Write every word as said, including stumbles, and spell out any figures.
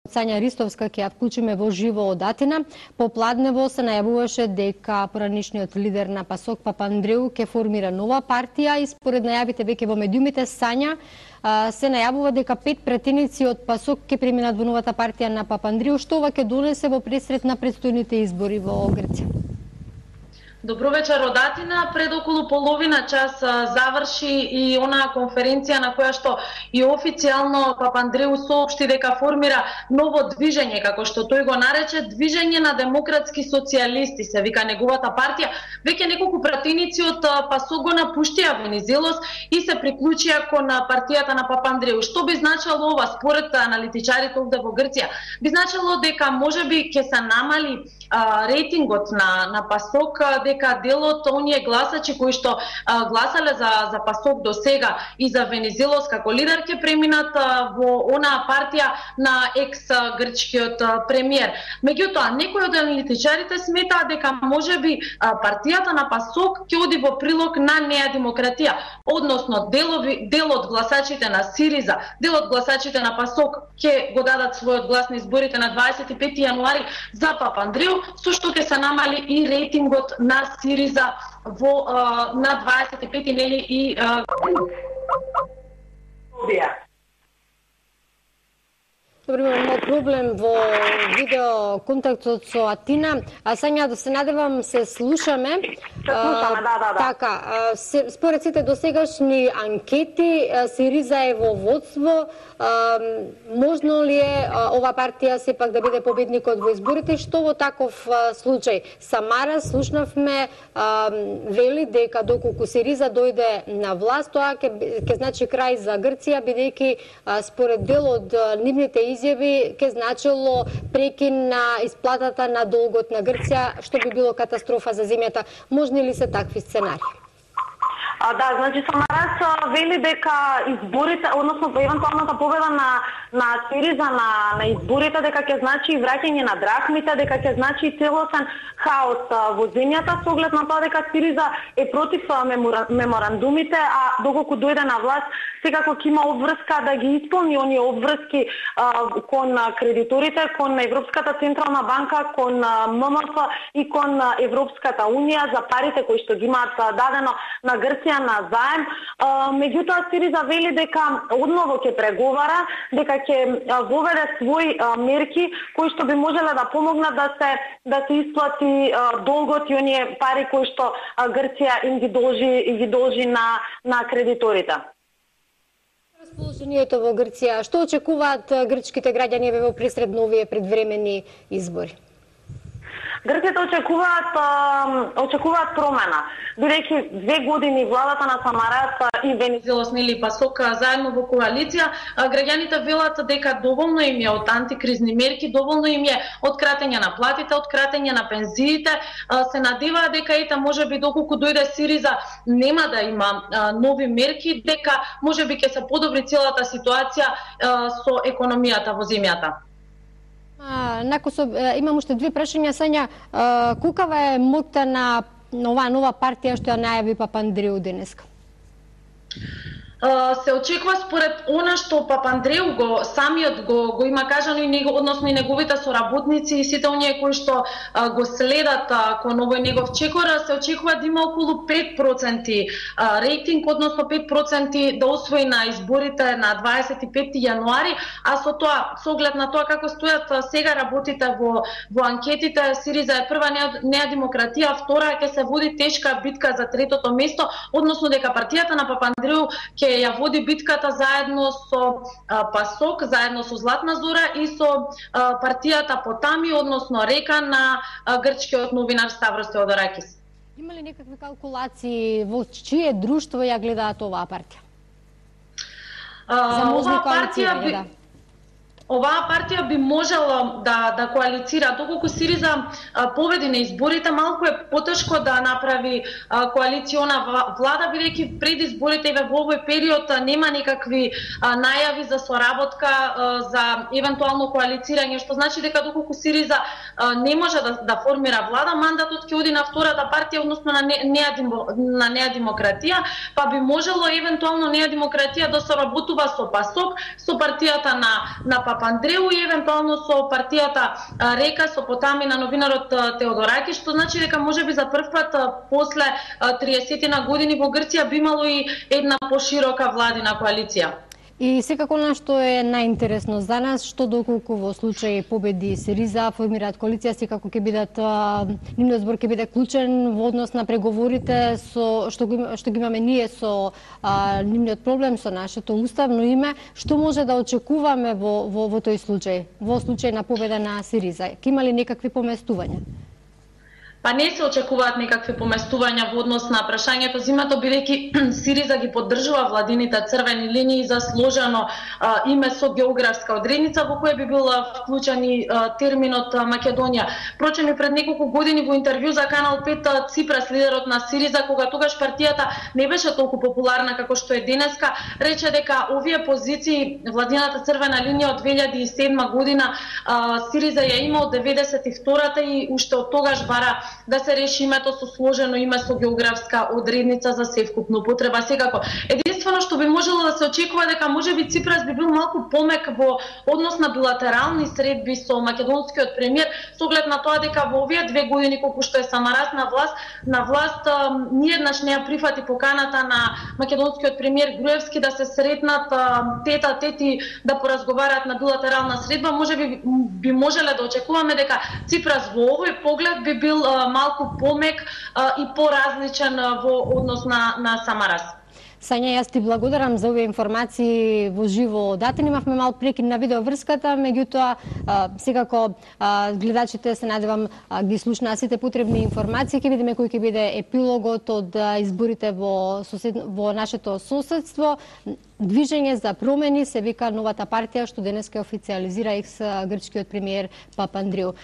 Сања Ристовска ќе ја вклучиме во живо од Атина. Попладнево се најавуваше дека поранишниот лидер на ПАСОК Папандреу ќе формира нова партија и според најавите веќе во медиумите Сања се најавува дека пет пратеници од ПАСОК ќе преминат во новата партија на Папандреу, што ова ќе донесе во пресрет на претстојните избори во Грција. Добро вечер од Атина. Пред околу половина час заврши и онаа конференција на која што и официјално Папандреу соопшти дека формира ново движење, како што тој го нарече, движење на демократски социјалисти, се вика неговата партија. Веќе неколку пратеници од ПАСОК го напуштија Венизелос и се приклучија кон партијата на Папандреу. Што би значило ова според аналитичарите овде во Грција? Би значило дека можеби ќе се намали а, рейтингот на на ПАСОК, дека дел од оние гласачи кои што а, гласале за за ПАСОК до сега и за Венизелос како лидер ќе преминат а, во онаа партија на екс грчкиот а, премиер. Меѓутоа, некои од аналитичарите сметаат дека можеби а, партијата на ПАСОК ќе оди во прилог на неа демократија, односно делови дел од гласачите на Сириза, дел од гласачите на ПАСОК ќе го дадат својот глас на изборите на дваесет и пети јануари за Папандреу, со што ќе се намали и рейтингот на Сириза во а, на дваесет и пети нели и а... Добро, имamo проблем во видео контактот со Атина. А Сања, да се надевам се слушаме. Се слушаме, да, да, да. Така, се, според сите досегашни анкети, Сириза е во водство. А, можно ли е а, ова партија сепак да биде победникот во изборите? Што во таков а, случај? Самара, слушнавме, а, вели дека доколку Сириза дојде на власт, тоа ќе ќе значи крај за Грција, бидејќи според дел од нивните изјави ќе значило прекин на исплатата на долгот на Грција, што би било катастрофа за земјата. Можни ли се такви сценари? А, да, значи Самарас вели дека изборите, односно евентуалната победа на на Сириза на на изборите дека ќе значи враќање на драхмите, дека ќе значи целосен хаос во земјата, со оглед на тоа дека Сириза е против меморандумите, а доколку дојде на власт, секако ќе има обврска да ги исполни оние обврски а, кон кредиторите, кон Европската централна банка, кон ММФ и кон Европската унија за парите кои што ги имаат дадено на Грција на заем. Меѓутоа Сириза вели дека одново ќе преговара, дека ќе воведе своји а, мерки кои што би можеле да помогнат да се да се исплати а, долгот и оние пари кои што а, Грција им ги должи ги должи на на кредиторите. Расположението во Грција, што очекуваат грчките граѓани во пресред новие предвремени избори? Грците очекуваат очекуваат промена, бидејќи две години владата на Самарас и Венизелос нели ПАСОК заедно во коалиција, граѓаните велат дека доволно им е од антикризни мерки, доволно им е од кратење на платите, од кратење на пензиите, се надеваат дека ета можеби доколку дојде Сириза нема да има нови мерки, дека можеби ќе се подобри целата ситуација со економијата во земјата. А, накосо, имам уште две прашања, Сања. А, кукава е моќта на оваа нова партија што ја најави Папандреу денеска? Се очекува според она што Папандреу го самиот го го има кажано и него, односно и неговите соработници и сите оние кои што а, го следат а, кон овој негов чекор, се очекува да има околу пет проценти а, рейтинг, односно пет проценти да освои на изборите на дваесет и пети јануари, а со тоа, со оглед на тоа како стојат а, сега работите во во анкетите, Сириза е прва, неа демократија, втора ќе се води тешка битка за третото место, односно дека партијата на Папандреу ќе ја води битката заедно со а, ПАСОК, заедно со Златна Зора и со а, партијата Потами, односно Река на а, грчкиот новинар Ставрос Теодоракис. Има ли некакви калкулации во чие друштво ја гледаат оваа партија? А, За можни партија би... да. Оваа партија би можела да да коалицира, доколку Сириза а, победи на изборите, малку е потешко да направи а, коалициона влада, бидејќи пред изборите и во овој период а, нема никакви а, најави за соработка а, за евентуално коалицирање, што значи дека доколку Сириза а, не може да, да формира влада, мандатот ќе оди на втората партија, односно на неа на неа демократија, па би можело евентуално неа демократија да соработува со ПАСОК, со партијата на на Папандреу и евентуално со партијата Река, со потами на новинарот Теодораки, што значи дека можеби за прв пат после триесет години во Грција би имало и една поширока владина коалиција. И секако на што е најинтересно за нас, што доколку во случај победи Сириза, формираат коалиција, секако ќе бидат нивниот збор ќе биде клучен во однос на преговорите со што го што ги имаме ние со а, нивниот проблем со нашето уставно име, што може да очекуваме во во, во тој случај, во случај на победа на Сириза. Ќе има ли некакви поместувања? Па не се очекуваат некакви поместувања во однос на прашањето зимато, бидејќи Сириза ги поддржува владините црвени линии за сложено а, име со географска одредница во која би бил вклучен и а, терминот а, Македонија. Впрочем, и пред неколку години во интервју за Канал пет Ципрас, лидерот на Сириза, кога тогаш партијата не беше толку популарна како што е денеска, рече дека овие позиции, владината црвена линија од две илјади и седма година, а, Сириза ја има од деветдесет и втората и уште од тогаш бара да се реши името со сложено име со географска одредница за севкупна употреба. Секако, единствено што би можело да се очекува дека можеби Ципрас би бил малку помек во однос на билатерални средби со македонскиот премиер, со оглед на тоа дека во овие две години колку што е Самарас на власт, на власт ниеднаш не ја прифати поканата на македонскиот премиер Груевски да се сретнат тета тети да поразговараат на билатерална средба. Можеби би можеле да очекуваме дека Ципрас во овој поглед би бил малку помек а, и поразличен во однос на, на Самарас. Сања, јас ти благодарам за овие информации во живо датен. Имавме мал прекин на видеоврската, меѓутоа секако гледачите се надевам ги слушнаа сите потребни информации. Ќе видиме кој ќе биде епилогот од изборите во сосед... во нашето соседство. Движење за промени се вика новата партија што денес ќе официализира екс грчкиот премиер Папандреу.